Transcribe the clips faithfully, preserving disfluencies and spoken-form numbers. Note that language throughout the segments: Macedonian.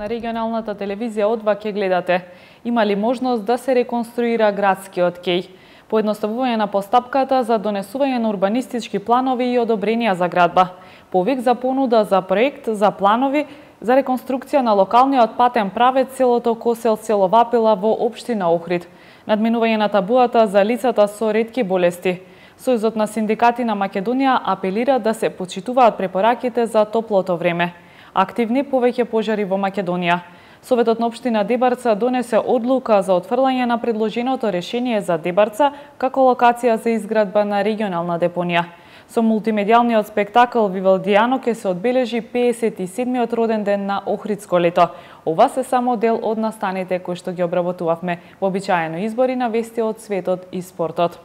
На регионалната телевизија Одва ќе гледате. Има ли можност да се реконструира градскиот кеј? Поедноставување на постапката за донесување на урбанистички планови и одобренија за градба. Повик за понуда за проект за планови за реконструкција на локалниот патен правец селото Косел село Вапила во општина Охрид. Надминување на табуата за лицата со ретки болести. Сојузот на синдикати на Македонија апелира да се почитуваат препораките за топлото време. Активни повеќе пожари во Македонија. Советот на општина Дебарца донесе одлука за отфрлање на предложеното решение за Дебарца како локација за изградба на регионална депонија. Со мултимедијалниот спектакл Вивалдијано ќе се одбележи пеесет и седмиот роден ден на Охридско лето. Ова се само дел од настаните кои што ги обработувавме во обичаено избори на вести од светот и спортот.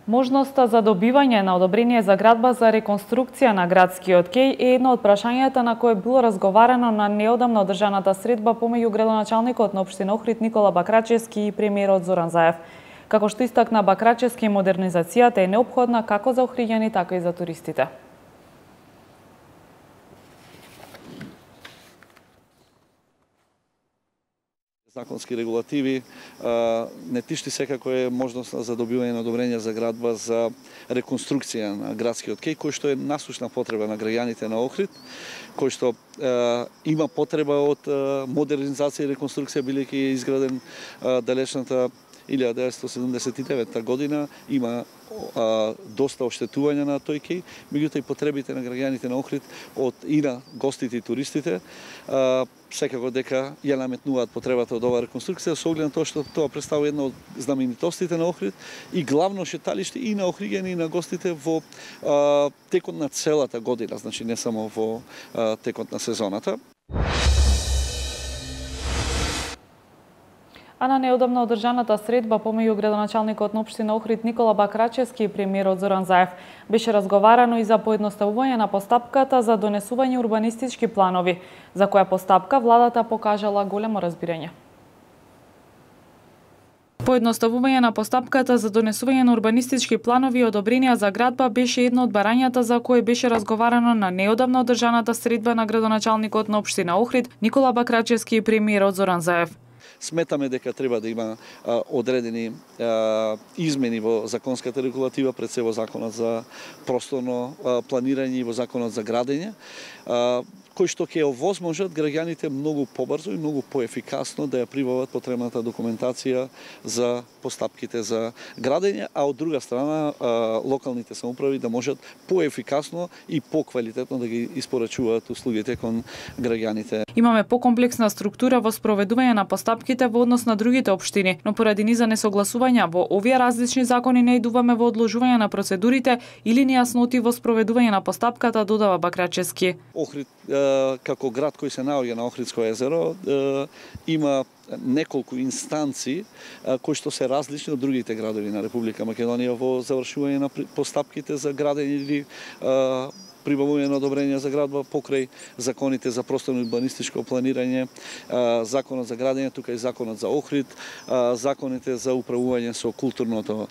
Можноста за добивање на одобрение за градба за реконструкција на градскиот кеј е едно од прашањата на кое било разговарано на неодамна одржаната средба помеѓу градоначалникот на општина Охрид Никола Бакрачевски и премиерот Зоран Заев. Како што истакна Бакрачевски, модернизацијата е неопходна како за охриѓани, така и за туристите. Законски регулативи не тишти секако е можност за добивање на одобрение за градба за реконструкција на градскиот кеј, кој што е насушна потреба на граѓаните на Охрид, кој што е, има потреба од модернизација и реконструкција, билејќи е изграден е, далечната илјада деветстотини седумдесет и девета година, има а, доста оштетување на тој кеј, меѓутоа и потребите на граѓаните на Охрид од и на гостите и туристите а, секако дека ја наметнуваат потребата од оваа реконструкција, со оглед на тоа што тоа представува една од знаменитостите на Охрид и главно шеталиште и на охриѓани и на гостите во а, текот на целата година, значи не само во а, текот на сезоната. А на неодамна одржаната средба помеѓу градоначалникот на општина Охрид Никола Бакрачевски и премиерот Зоран Заев беше разговарано и за поедноставување на постапката за донесување урбанистички планови, за која постапка владата покажала големо разбирање. Поедноставување на постапката за донесување на урбанистички планови и одобренија за градба беше едно од барањата за кое беше разговарано на неодамна одржаната средба на градоначалникот на општина Охрид Никола Бакрачевски и премиерот Зоран Заев. Сметаме дека треба да има а, одредени а, измени во законската регулатива, пред се во законот за просторно а, планирање и во законот за градење, а, кои што ќе овозможат граѓаните многу побрзо и многу поефикасно да ја прибават потребната документација за постапките за градење, а од друга страна а, локалните самоуправи да можат поефикасно и поквалитетно да ги испорачуваат услугите кон граѓаните. Имаме покомплексна структура во спроведување на постапките во однос на другите општини, но поради низа несогласувања во овие различни закони не идуваме во одложување на процедурите или нејасноти во спроведување на постапката, додава Бакрачевски. Охрид како град кој се наоѓа на Охридско езеро има неколку инстанции кои што се различни од другите градови на Република Македонија во завршување на постапките за градење или прибавување на одобрение за градба покрај законите за просторно урбанистичко планирање, законот за градење, тука и законот за Охрид, законите за управување со културното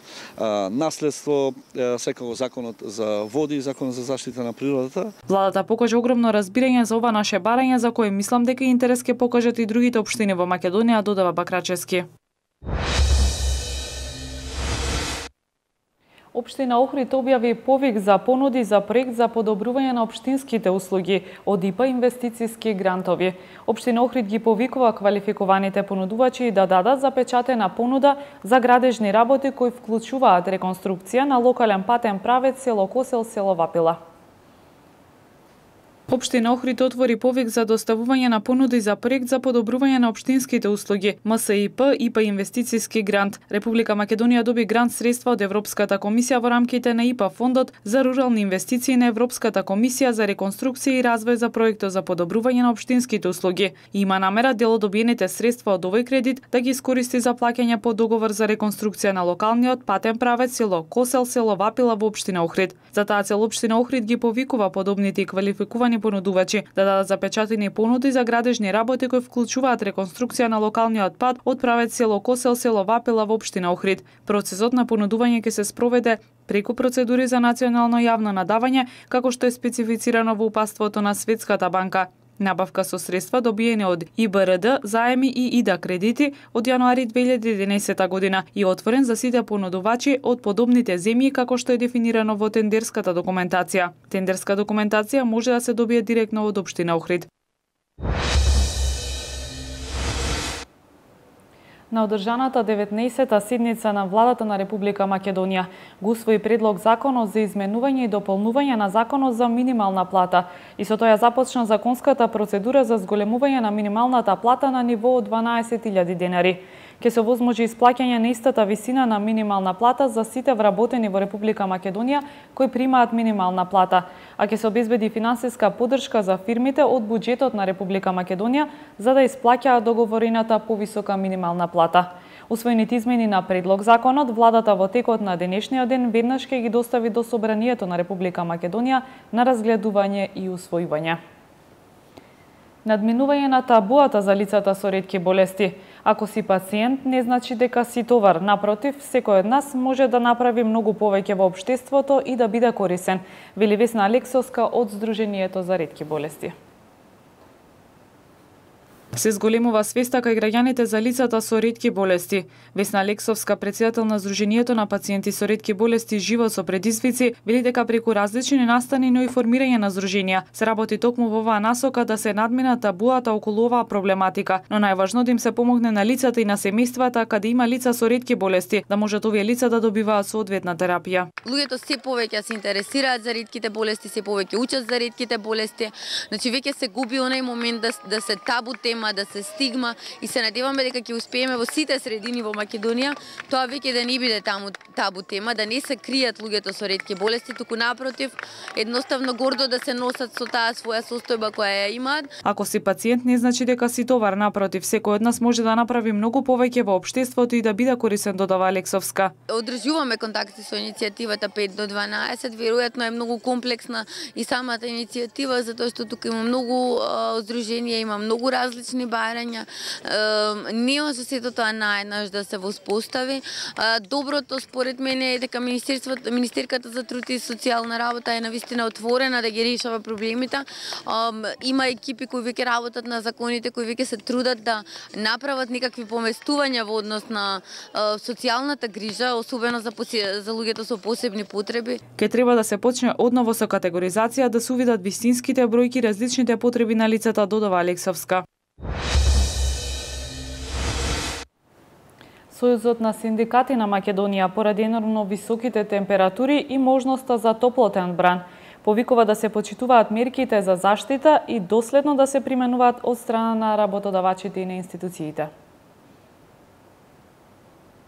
наследство, секако законот за води и законот за заштита на природата. Владата покажа огромно разбирање за ова наше барање, за кое мислам дека интерес ќе покажат и другите општини во Македонија, додава Бакрачевски. Општина Охрид објави повик за понуди за проект за подобрување на општинските услуги од ИПА инвестициски грантови. Општина Охрид ги повикува квалификуваните понудувачи да дадат запечатена понуда за градежни работи кои вклучуваат реконструкција на локален патен правец село Косел село Вапила. Општина Охрид отвори повик за доставување на понуди за проект за подобрување на општинските услуги МСИП ИПА инвестициски грант. Република Македонија доби грант средства од Европската комисија во рамките на ИПА фондот за рурални инвестиции на Европската комисија за реконструкција и развој за проектот за подобрување на општинските услуги. И има намера дел од добиените средства од овој кредит да ги искористи за плаќање по договор за реконструкција на локалниот патен правец село Косел село Вапила во општина Охрид. За таа цел општина Охрид ги повикува подобните и квалификувани понудувачи да дадат запечатени понуди за градежни работи кои вклучуваат реконструкција на локалниот пат од правец село Косел село Вапила во општина Охрид. Процесот на понудување ќе се спроведе преку процедури за национално јавно надавање, како што е специфицирано во упатството на Светската банка. Набавка со средства добиени од И Б Р Д, заеми и ИДА кредити од јануари две илјади и единаесета година и отворен за сите понудувачи од подобните земји како што е дефинирано во тендерската документација. Тендерска документација може да се добие директно од општина Охрид. На одржаната деветнаесета седница на владата на Република Македонија го усвои предлог законот за изменување и дополнување на законот за минимална плата и со тоа започна законската процедура за зголемување на минималната плата на ниво од дванаесет илјади денари. Ке се овозможи исплаќање на истата висина на минимална плата за сите вработени во Република Македонија кои примаат минимална плата, а ке се обезбеди финансиска поддршка за фирмите од буџетот на Република Македонија за да исплаќаат договорената повисока минимална плата. Усвоените измени на предлог законот, владата во текот на денешниот ден веднаш ќе ги достави до Собранието на Република Македонија на разгледување и усвојување. Надминување на табуата за лицата со ретки болести. Ако си пациент, не значи дека си товар. Напротив, секој од нас може да направи многу повеќе во општеството и да биде корисен, вели Весна Алексовска од Сдруженијето за ретки болести. Се зголемува свеста кај граѓаните за лицата со ретки болести. Весна Алексовска, председател на Сдруженијето на пациенти со ретки болести Живот со предизвици, вели дека преку различни настани, но и формирање на здруженија се работи токму во оваа насока да се надмина табуата околу оваа проблематика, но најважно да им се помогне на лицата и на семејствата каде има лица со ретки болести, да можат овие лица да добиваат соодветна терапија. Луѓето се повеќе се интересираат за ретките болести, се повеќе учат за ретките болести, значи веќе се губи онај момент да, да се табу тема, да се стигма и се надеваме дека ќе успееме во сите средини во Македонија тоа веќе да не биде таму табу тема, да не се кријат луѓето со ретки болести, туку напротив, едноставно гордо да се носат со таа своја состојба која ја имаат. Ако си пациент не значи дека си товар, напротив, секој од нас може да направи многу повеќе во општеството и да биде корисен, додава Алексовска. Одржуваме контакти со иницијативата пет до дванаесет, веројатно е многу комплексна и самата иницијатива затоа што тука има многу здруженија, има многу различни барања. Не со сето тоа наеднаш да се воспостави. Доброто според мене е дека Министерството, Министерката за труд и социјална работа е навистина отворена да ги решава проблемите. Има екипи кои веќе работат на законите, кои веќе се трудат да направат некакви поместувања во однос на социјалната грижа, особено за за луѓето со посебни потреби. Ке треба да се почне одново со категоризација, да се увидат вистинските бројки, различните потреби на лицата, додава Алексовска. Сојузот на синдикати на Македонија поради енормно високите температури и можноста за топлотен бран повикува да се почитуваат мерките за заштита и доследно да се применуваат од страна на работодавачите и на институциите.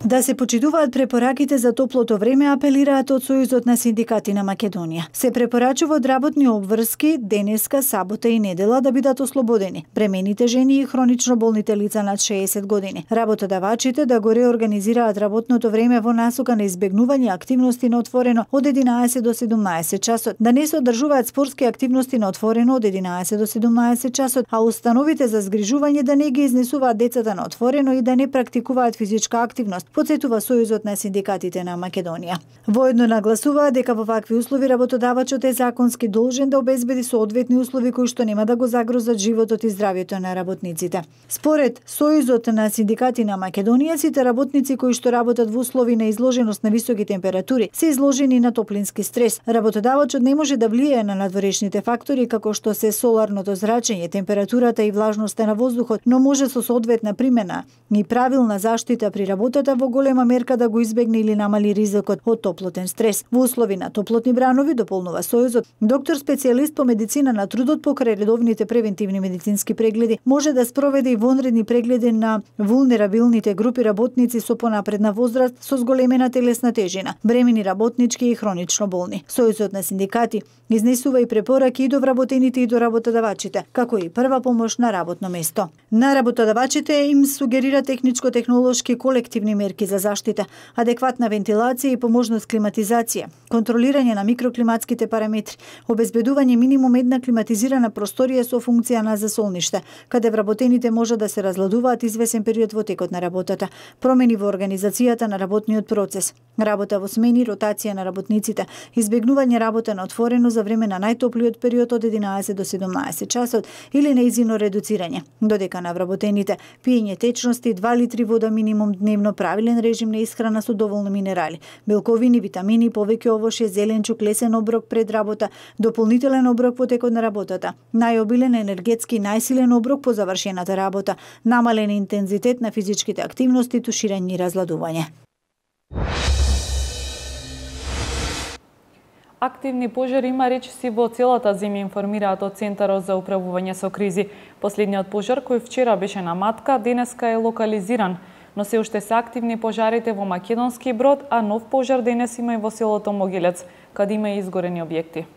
Да се почитуваат препораките за топлото време, апелираат од Сојузот на синдикати на Македонија. Се препорачува од работни обврски денеска, сабота и недела да бидат ослободени бремените жени и хронично болните лица над шеесет години. Работодавачите да го реорганизираат работното време во насока на избегнување активности на отворено од единаесет до седумнаесет часот, да не се одржуваат спортски активности на отворено од единаесет до седумнаесет часот, а установите за згрижување да не ги изнесуваат децата на отворено и да не практикуваат физичка активност, потсетува Сојузот на синдикатите на Македонија. Воедно нагласуваа дека во вакви услови работодавачот е законски должен да обезбеди соодветни услови кои што нема да го загрозат животот и здравјето на работниците. Според Сојузот на синдикати на Македонија, сите работници кои што работат во услови на изложеност на високи температури се изложени на топлински стрес. Работодавачот не може да влијае на надворешните фактори како што се соларното зрачење, температурата и влажноста на воздухот, но може со соодветна примена и правилна заштита при работата во голема мерка да го избегне или намали ризикот од топлотен стрес. Во услови на топлотни бранови, дополнува Сојузот, доктор специјалист по медицина на трудот покрај редовните превентивни медицински прегледи може да спроведе и вонредни прегледи на вулнерабилните групи работници со понапредна возраст со зголемена телесна тежина, бремени работнички и хронично болни. Сојузот на синдикати изнесува и препораки и до вработените и до работодавачите, како и прва помош на работно место. На работодавачите им сугерира техничко-технолошки колективни мерки за заштита, адекватна вентилација и поможност климатизација, контролирање на микроклиматските параметри, обезбедување минимум една климатизирана просторија со функција на засолниште, каде вработените може да се разладуваат извесен период во текот на работата, промени во организацијата на работниот процес. Работа во смени, ротација на работниците, избегнување работа на отворено за време на најтоплиот период од единаесет до седумнаесет часот или неизино редуцирање, додека на вработените пиење течности, два литри вода минимум дневно, правилен режим на исхрана со доволно минерали, белковини, витамини, повеќе овоше, зеленчук, лесен оброк пред работа, дополнителен оброк во текот на работата, најобилен енергетски најсилен оброк по завршената работа, намален интензитет на физичките активности, туширање и разладување. Активни пожари има речиси во целата земја, информираат од Центарот за управување со кризи. Последниот пожар кој вчера беше на Матка, денеска е локализиран, но се уште се активни пожарите во Македонски Брод, а нов пожар денес има и во селото Могилец, каде има и изгорени објекти.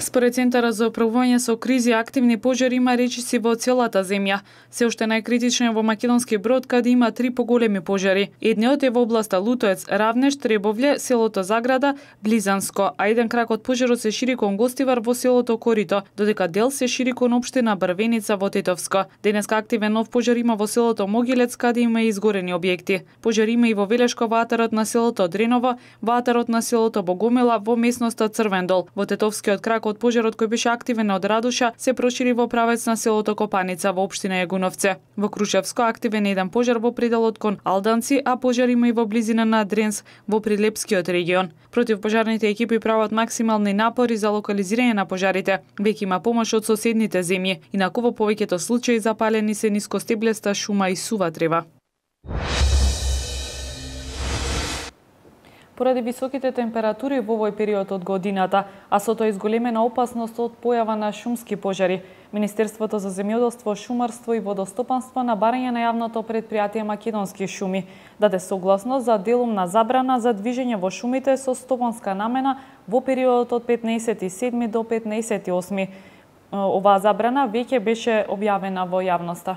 Според Центарот за управување со кризи, активни пожари има речиси во целата земја. Се уште најкритично е во Македонски Брод, каде има три поголеми пожари. Едниот е во областа Лутоец, Равнеш, Требовле, селото Заграда, Близанско, а еден крак од пожарот се шири кон Гостивар во селото Корито, додека дел се шири кон општина Брвеница во Тетовско. Денеска активен нов пожар има во селото Могилец, каде има и изгорени објекти. Пожар има и во Велешко, во атарот на селото Дреново, во атарот на селото Богомила, во местноста Црвен дол. Во Тетовскиот крак од пожарот кој беше активен од Радуша се прошири во правец на селото Копаница во општина Јагуновце. Во Крушевско активен еден пожар во пределот кон Алданци, а пожар има и во близина на Дренс во Прилепскиот регион. Противпожарните екипи прават максимални напори за локализирање на пожарите. Веќе има помош од соседните земји, инаку во повеќето случаи запалени се нискостеблеста шума и сува трева. Поради високите температури во овој период од годината, а со тоа изголемена опасност од појава на шумски пожари, Министерството за земјоделство, шумарство и водостопанство на барање на јавното претпријатие Македонски шуми даде согласност за делумна забрана за движење во шумите со стопанска намена во периодот од петнаесети седми до петнаесети осми. Оваа забрана веќе беше објавена во јавноста.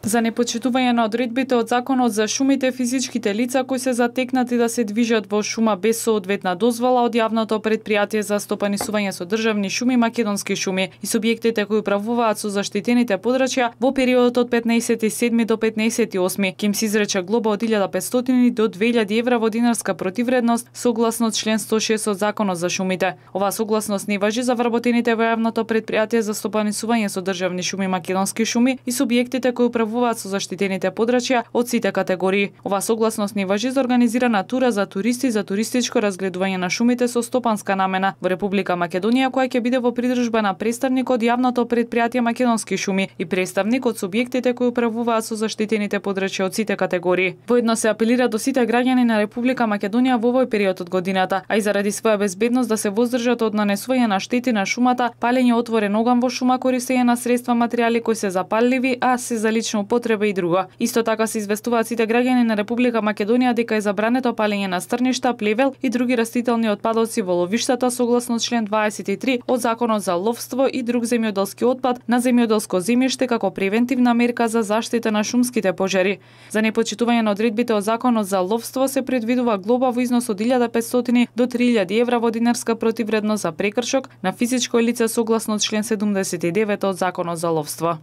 За непочитување на одредбите од Законот за шумите, физичките лица кои се затекнати да се движат во шума без соодветна дозвола од јавното претпријатие за стопанисување со државни шуми Македонски шуми и субјектите кои управуваат со заштитените подрачја во периодот од петнаесети седми до петнаесети осми ќе им се изрече глоба од илјада и петстотини до две илјади евра во динарска противредност согласно член сто и шест од Законот за шумите. Оваа согласност не важи за вработените во јавното претпријатие за стопанисување со државни шуми Македонски шуми и субјектите кои управуваат со заштитените подрачја од сите категории. Ова согласност не важи за организирана тура за туристи за туристичко разгледување на шумите со стопанска намена во Република Македонија, која ќе биде во придружба на представник од јавното претпријатие Македонски шуми и представник од субјектите кои управуваат со заштитените подрачја од сите категории. Воедно се апелира до сите граѓани на Република Македонија во овој период од годината, а и заради своја безбедност да се воздржат од нанесување на штети на шумата, палење отворен оган во шума, користење на средства, материјали кои се запалливи, а се за лично употреба и друго. Исто така се известуваат сите граѓани на Република Македонија дека е забрането палење на стрништа, плевел и други растителни отпадоци во ловиштата согласно член дваесет и три од Законот за ловство и друг земјоделски отпад на земјоделско земјиште како превентивна мерка за заштита на шумските пожари. За непочитување на одредбите од Законот за ловство се предвидува глоба во износ од илјада и петстотини до три илјади евра во динарска противредност за прекршок на физичко лице согласно член седумдесет и девет од Законот за ловство.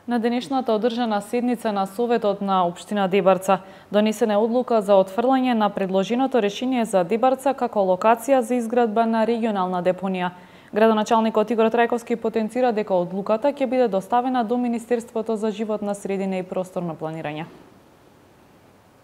На денешната одржана седница на Советот на Општина Дебарца донесена е одлука за отфрлање на предложеното решение за Дебарца како локација за изградба на регионална депонија. Градоначалникот Игор Трајковски потенцира дека одлуката ќе биде доставена до Министерството за животна средина и просторно планирање.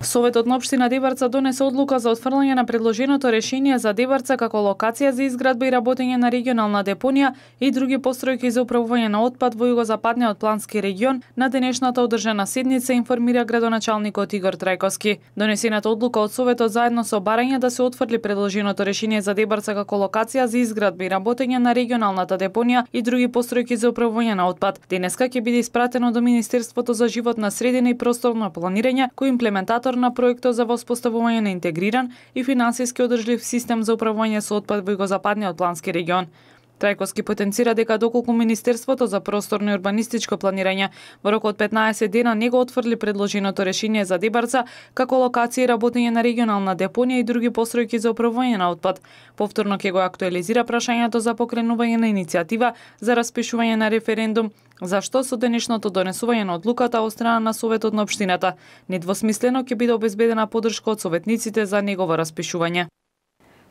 Советот на Општина Дебарца донесе одлука за отфрлање на предложеното решение за Дебарца како локација за изградба и работење на регионална депонија и други постројки за управување на отпад во југозападниот плански регион на денешната одржана седница, информира градоначалникот Игор Трајковски. Донесената одлука од Советот заедно со барање да се отфрли предложеното решение за Дебарца како локација за изградба и работење на регионалната депонија и други постројки за управување на отпад денеска ќе биде испратено до Министерството за животна средина и просторно планирање, кој имплементатор на проектот за воспоставување на интегриран и финансиски одржлив систем за управување со отпад во југозападниот плански регион. Трајковски потенцира дека доколку Министерството за просторно и урбанистичко планирање во рок од петнаесет дена не го отфрли предложеното решение за Дебарца како локација и работење на регионална депонија и други постројки за управување на отпад, повторно ќе го актуализира прашањето за покренување на иницијатива за распишување на референдум, за што со денешното донесување на одлуката од страна на Советот на општината недвосмислено ќе биде обезбедена поддршка од советниците за негово распишување.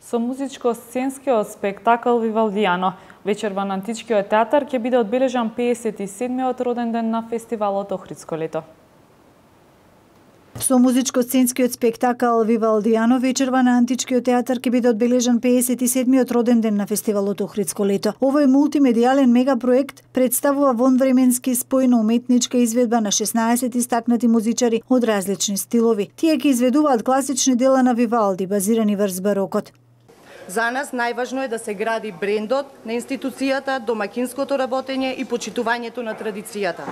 Со музичко-сценскиот спектакл Вивалдијано, вечерва на Античкиот театар ќе биде одбележан пеесет и седмиот роден ден на фестивалот Охридско лето. Со музичко-сценскиот спектакл Вивалдијано, вечерва на Античкиот театар ќе биде одбележан пеесет и седмиот роден ден на фестивалот Охридско лето. Овој мултимедијален мегапроект представува вонвременски спојна уметничка изведба на шеснаесет истакнати музичари од различни стилови. Тие ќе изведуваат класични дела на Вивалди, базирани врз барокот. За нас најважно е да се гради брендот на институцијата, домакинското работење и почитувањето на традицијата.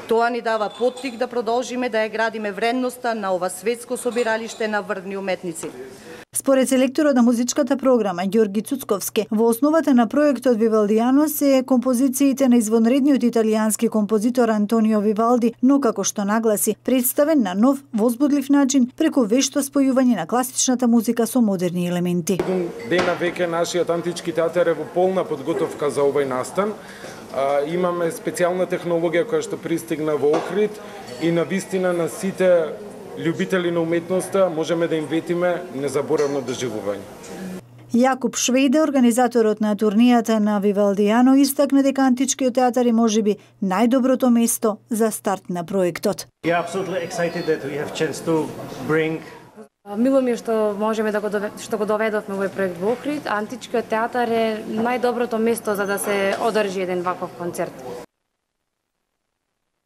Тоа ни дава поттик да продолжиме да ја градиме вредноста на ова светско собиралиште на врвни уметници. Според селекторот на музичката програма Ѓорги Цуцковски, во основата на проектот Вивалдијано се композициите на извонредниот италијански композитор Антонио Вивалди, но како што нагласи, представен на нов, возбудлив начин преку вешто спојување на класичната музика со модерни елементи. Дена веќе нашиот Антички театар е во полна подготовка за овој настан. А, имаме специјална технологија која што пристигна во Охрид и навистина на сите љубители на уметноста можеме да им ветиме незаборавно доживување. Јакуб Швејде, организаторот на турнијата на Вивалдијано, истакна дека Античкиот театар е можеби најдоброто место за старт на проектот. Мило ми е што можеме да го доведоме, што го доведовме овој проект во Охрид. Античкиот театар е најдоброто место за да се одржи еден ваков концерт.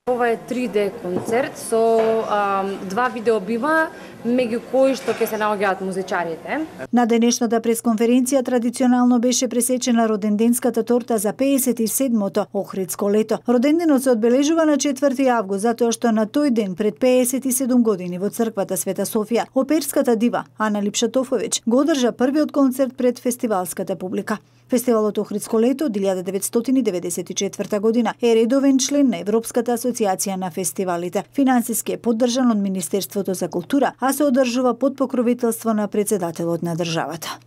Ова е три де концерт со а, два видеобима, меѓу кои што ќе се наоѓаат музичарите. На денешната пресконференција традиционално беше пресечена роденденската торта за пеесет и седмото Охридско лето. Роденденот се одбележува на четврти август, затоа што на тој ден пред пеесет и седум години во црквата Света Софија, оперската дива Ана Липшатофовиќ го одржа првиот концерт пред фестивалската публика. Фестивалот Охридско лето од илјада деветстотини деветдесет и четврта година е редовен член на Европската асоциација на фестивалите. Финансиски е поддржан од Министерството за култура, а се одржува под покровителство на председателот на државата.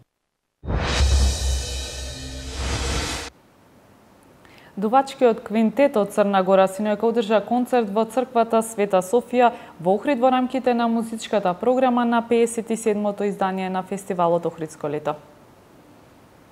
Дувачкиот квинтет од Црна Гора синојка одржа концерт во црквата Света Софија во Охрид во рамките на музичката програма на пеесет и седмото издание на фестивалот Охридско лето.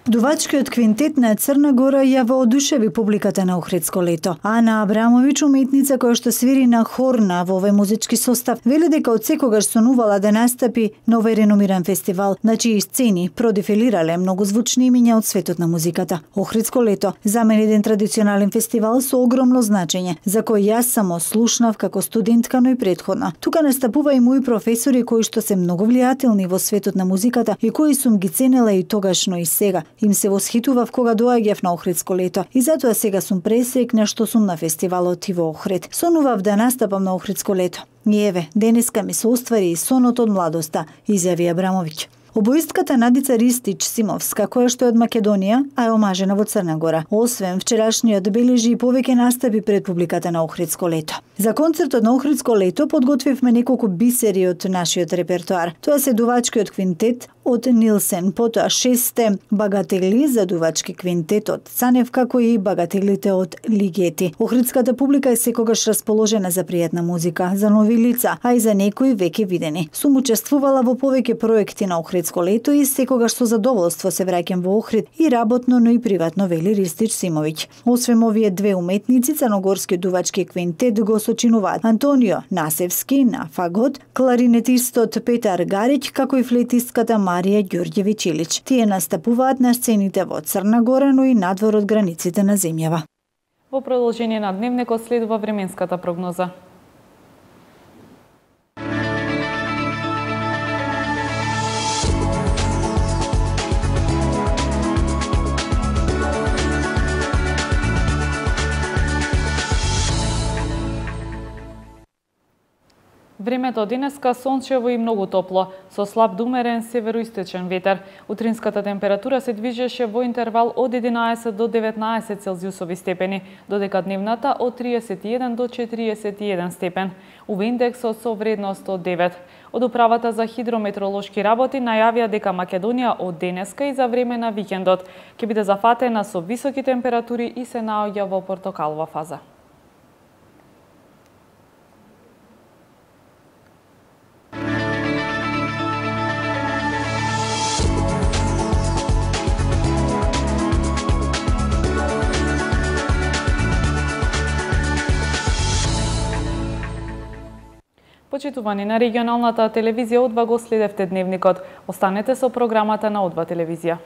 Дувачкиот квинтет на Црна Гора ја воодушеви публиката на Охридско лето. Ана Абрамовиќ, уметница која што свири на хорна во овој музички состав, вели дека од секогаш сонувала да настапи на овој реномиран фестивал, на чии сцени продефилирале многу звучни имиња од светот на музиката. Охридско лето за мен еден традиционален фестивал со огромно значење, за кој јас само слушнав како студентка, но и претходно. Тука настапува и мои професори кои што се многу влијателни во светот на музиката и кои сум ги ценела и тогаш, но и сега. Им се восхитував кога доаѓав на Охридско лето и затоа сега сум пресекна што сум на фестивалот и во Охрид. Сонував да настапам на Охридско лето. И еве, денеска ми се оствари и сонот од младоста, изјави Абрамовиќ. Обоистката Надица Ристич Симовска, која што е од Македонија, а е омажена во Црна Гора. Освен вчерашниот бележи и повеќе настапи пред публиката на Охридско лето. За концертот на Охридско лето подготвивме неколку бисери од нашиот репертоар. Тоа се дувачкиот квинтет од Нилсен, потоа шесте багатели за дувачки квинтет од Цанев, како и багателите од Лигети. Охридската публика е секогаш расположена за пријатна музика, за нови лица, а и за некои веќе видени. Сум учествувала во повеќе проекти на Охридско лето и секогаш со задоволство се враќам во Охрид и работно, но и приватно, вели Ристич Симовиќ. Освен овие две уметници, црногорскиот дувачки квинтет го сочинуваат Антонио Насевски на фагот, кларинетистот Петар Гариќ, како и флейтистката Марија Ѓорѓевиќ Илич. Тие настапуваат на сцените во Црна Гора, но и надвор од границите на земјава. Во продолжение на дневникот следува временската прогноза. Времето денеска сончево и многу топло, со слаб до умерен североисточен ветер. Утринската температура се движеше во интервал од единаесет до деветнаесет целзиусови степени, додека дневната од триесет и еден до четириесет и еден степен. Ува индексот со вредност од девет. Од управата за хидрометеоролошки работи најавија дека Македонија од денеска и за време на викендот ќе биде зафатена со високи температури и се наоѓа во портокалова фаза. Почитувани, на регионалната телевизија О два го следевте дневникот. Останете со програмата на О два телевизија.